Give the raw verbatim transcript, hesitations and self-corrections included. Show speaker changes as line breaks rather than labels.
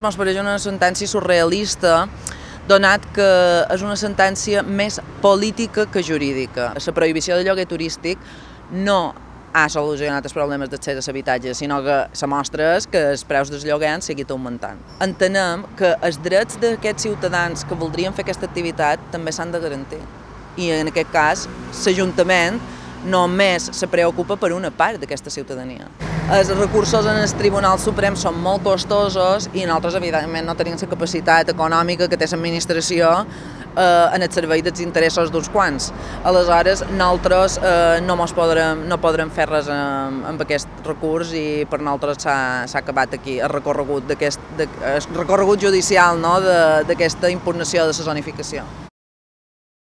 Ens pareix una sentència surrealista, donat que és una sentència més política que jurídica. La prohibició del lloguer turístic no ha solucionat els problemes d'accés a l'habitatge, sinó que la mostra és que els preus dels lloguers han seguit augmentant. Entenem que els drets d'aquests ciutadans que voldrien fer aquesta activitat també s'han de garantir. I en aquest cas, l'Ajuntament només se preocupa per una part d'aquesta ciutadania. Els recursos en el Tribunal Suprem són molt costosos i nosaltres, evidentment, no tenim la capacitat econòmica que té l'administració eh, en el servei dels interessos d'uns quants. Aleshores, nosaltres eh, no, podrem, no podrem fer res amb, amb aquest recurs i per nosaltres s'ha acabat aquí el recorregut, de, el recorregut judicial, no, d'aquesta impugnació de la zonificació.